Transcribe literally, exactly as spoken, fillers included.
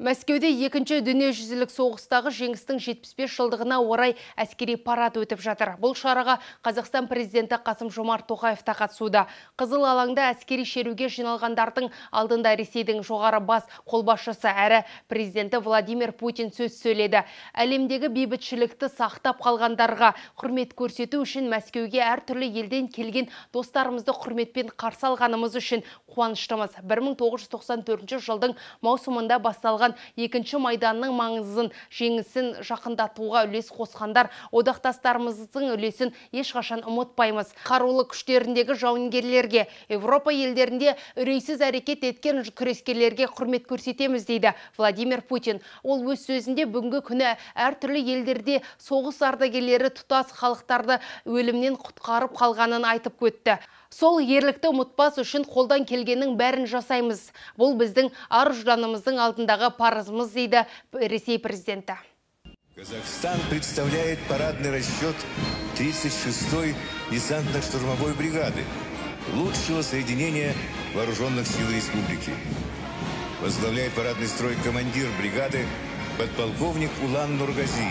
Мәскеуде екінші дүниежүзілік соғыстағы жеңістің жетпіс бес жылдығына орай әскери парад өтіп жатыр. Бұл шараға Қазақстан президенті Қасым-Жомарт Тоқаев та қатысуда. Қызыл алаңда әскери шеруге жиналғандардың алдында Ресейдің жоғары бас қолбасшысы әрі президенті Владимир Путин сөз сөйледі. Әлемдегі бейбітшілікті сақтап қалғандарға құрмет көрсету үшін Мәскеуге әртүрлі елден келген достарымызды құрметпен қарсы алғанымыз үшін қуаныштымыз. бір мың тоғыз жүз тоқсан төртінші жылдың маусымында басталған екінші майданның маңызын жеңісін жақындатуға үлес қосқандар одақтастарымыздың үлесін ешқашан ұмытпаймыз. Қарулы күштеріндегі жауынгерлерге, Европа елдерінде үрейсіз әрекет еткен күрескерлерге құрмет көрсетеміз дейді Владимир Путин. Ол өз сөзінде бүгінгі күні әртүрлі елдерде соғыс ардагерлері тұтас халықтарды өлімнен құтқарып қалғанын айтып өтті. Сол ерлікті ұмытпас үшін қолдан келгеннің бәрін жасаймыз. Бұл біздің ар-ұжданымыздың алдындағы парызымыз дейді Ресей президенті. Казахстан представляет парадный расчет тридцать шестой десантно-штурмовой бригады, лучшего соединения вооруженных сил республики. Возглавляет парадный строй командир бригады подполковник Улан Нургази.